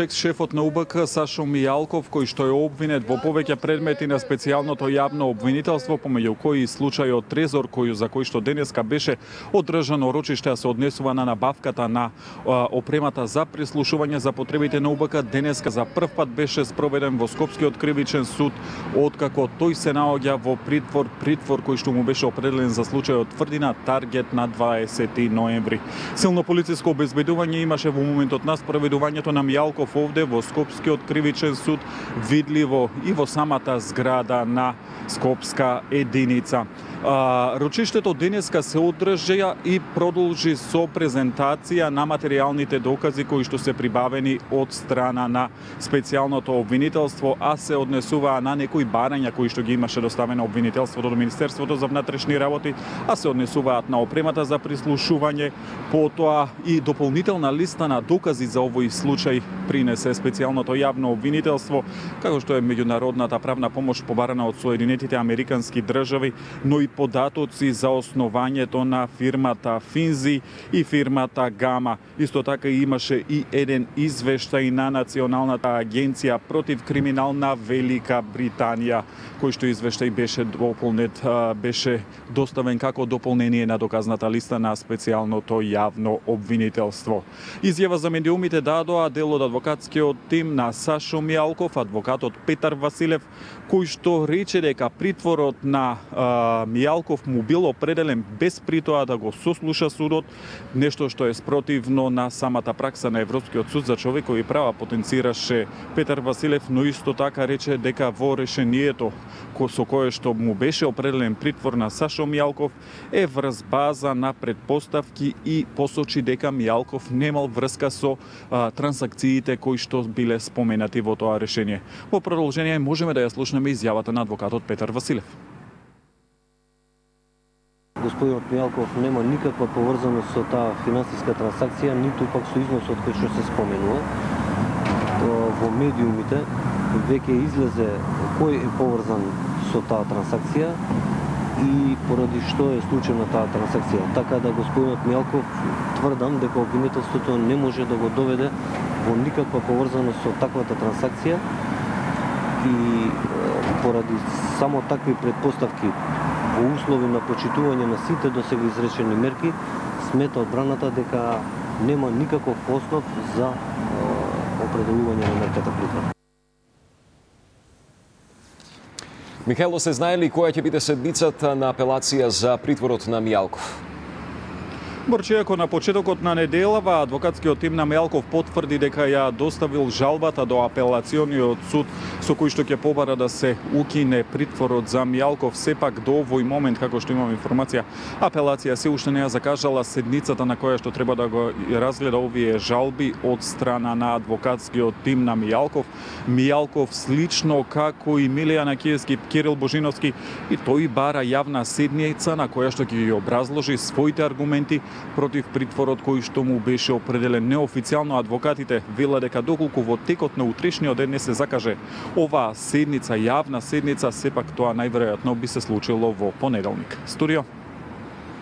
Шефот на УБК Сашо Мијалков, кој што е обвинет во повеќе предмети на специјалното јавно обвинителство, помеѓу кои и случајот Трезор, за кој што денеска беше одржано рочиште, а се однесува на набавката на опремата за прислушување за потребите на УБК, денеска за прв пат беше спроведен во Скопскиот кривичен суд, откако тој се наоѓа во притвор кој што му беше определен за случајот Тврдина Таргет на 20 ноември. Силно полициско обезбедување имаше во моментот на спроведувањето на Мијалков овде во Скопскиот кривичен суд, видливо и во самата зграда на Скопска единица. Рочиштето денеска се одржа и продолжи со презентација на материјалните докази кои што се прибавени од страна на специјалното обвинителство, а се однесуваа на некои барања кои што ги имаше доставено обвинителството до Министерството за внатрешни работи, а се однесуваат на опремата за прислушување, потоа и дополнителна листа на докази за овој случај принесе специјалното јавно обвинителство, како што е меѓународната правна помош побарана од Соединетите Американски држави, но и податоци за основањето на фирмата Финзи и фирмата Гама. Исто така имаше и еден извештај на Националната агенција против криминал на Велика Британија, кој што извештај беше доставен како дополнение на доказната листа на специјалното јавно обвинителство. Изјава за медиумите дадоа дел од адвокатскиот тим на Сашо Мијалков, адвокатот Петар Василев, кој што рече дека притворот на Мијалков му бил определен без притоа да го сослуша судот, нешто што е спротивно на самата пракса на Европскиот суд за човекови права, потенцираше Петар Василев, но исто така рече дека во решението со кое што му беше определен притвор на Сашо Мијалков е врз база на предпоставки и посочи дека Мијалков немал врска со трансакциите кои што биле споменати во тоа решение. Во продолжение можеме да ја слушнеме изјавата на адвокатот Петар Василев. Господинот Мијалков нема никаква поврзаност со таа финансиска трансакција, ниту пак со износот кој што се споменува. Во медиумите веќе излезе кој е поврзан со таа трансакција и поради што е случајна таа трансакција. Така да господинот Мијалков тврдам дека обвинителството не може да го доведе во никаква поврзаност со таквата трансакција и поради само такви предпоставки во услови на почитување на сите досега изречени мерки, смета одбраната дека нема никаков основ за определување на мерката притвор. Михајло, се знае ли која ќе биде седмицата на апелација за притворот на Мијалков? Борчијако на почетокот на неделава, адвокатскиот тим на Мијалков потврди дека ја доставил жалбата до апелациониот суд со кој што ќе побара да се укине притворот за Мијалков. Сепак до овој момент, како што имам информација, апелација се уште не ја закажала седницата на која што треба да го разгледа овие жалби од страна на адвокатскиот тим на Мијалков. Мијалков слично како и Милијана Киевски, Кирил Божиновски, и тој бара јавна седница на која што ќе ги образложи своите аргументи против притворот кој што му беше определен. Неофицијално адвокатите велат дека доколку во текот на утрешниот ден не се закаже оваа седница, јавна седница, сепак тоа најверојатно би се случило во понеделник. Студио.